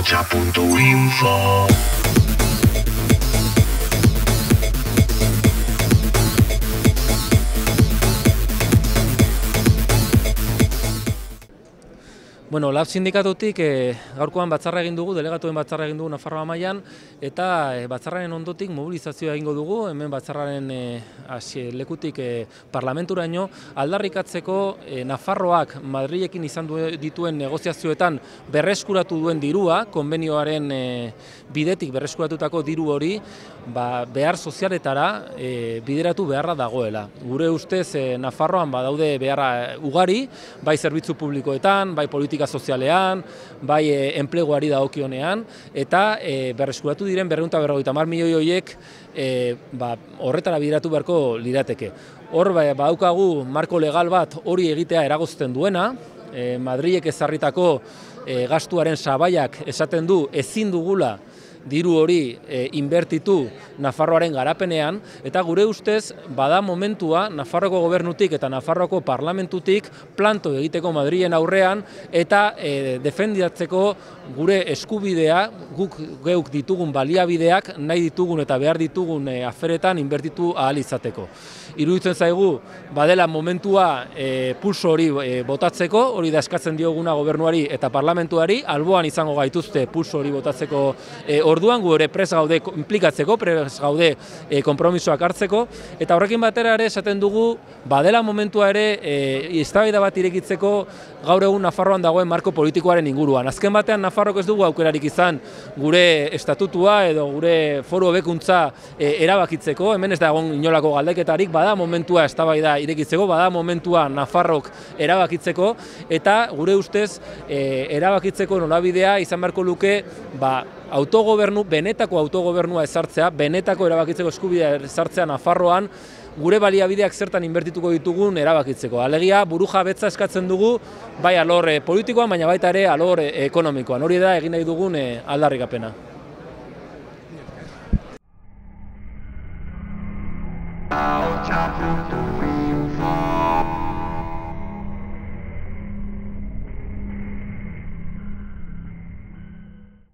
ahotsa.info. Bueno, LAB sindikatutik gaurkoan batzarra egin dugu, delegatuen batzarra egin dugu Nafarroa mailan, eta batzarraren ondotik mobilizazioa egingo dugu, hemen batzarraren lekutik parlamenturaino, aldarrikatzeko Nafarroak Madrilekin izan dituen negoziazioetan berreskuratu duen dirua, konbenioaren bidetik berreskuratutako diru hori, behar sozialetara bideratu beharra dagoela. Gure ustez Nafarroan badaude beharra ugari, bai zerbitzu publikoetan, bai politika sozialean, bai enpleguari dagokionean, eta berreskuratu diren 250 milioi horiek horretara bideratu beharko lirateke. Hor badaukagu marko legal bat hori egitea eragozten duena, Madrilek ezarritako gastuaren sabaiak esaten du ezin dugula diru hori inbertitu Nafarroaren garapenean, eta gure ustez bada momentua Nafarroko gobernutik eta Nafarroko parlamentutik planto egiteko Madrilen aurrean eta defendatzeko gure eskubidea, guk geuk ditugun baliabideak nahi ditugun eta behar ditugun aferetan inbertitu ahal izateko. Iruditzen zaigu badela momentua pulso hori botatzeko, hori da eskatzen dioguna gobernuari eta parlamentuari, alboan izango gaituzte pulso hori botatzeko orduan, gu ere prest gaude implikatzeko, prest gaude konpromisoak hartzeko, eta horrekin batera ere esaten dugu badela momentua ere eztabaida bat irekitzeko gaur egun Nafarroan dagoen marko politikoaren inguruan. Azken batean Nafarrok ez dugu aukerarik izan gure estatutua edo gure foru hobekuntza erabakitzeko, hemen ez da egon inolako galdeketarik, bada momentua eztabaida irekitzeko, bada momentua Nafarrok erabakitzeko, eta gure ustez erabakitzeko norabidea izan beharko luke autogobernu, benetako autogobernua ezartzea, benetako erabakitzeko eskubidea ezartzea Nafarroan, gure baliabideak zertan inbertituko ditugun erabakitzeko. Alegia, burujabetza eskatzen dugu, bai alor politikoan, baina baita ere alor ekonomikoan. Hori da egin nahi dugun aldarrikapena. ahotsa.info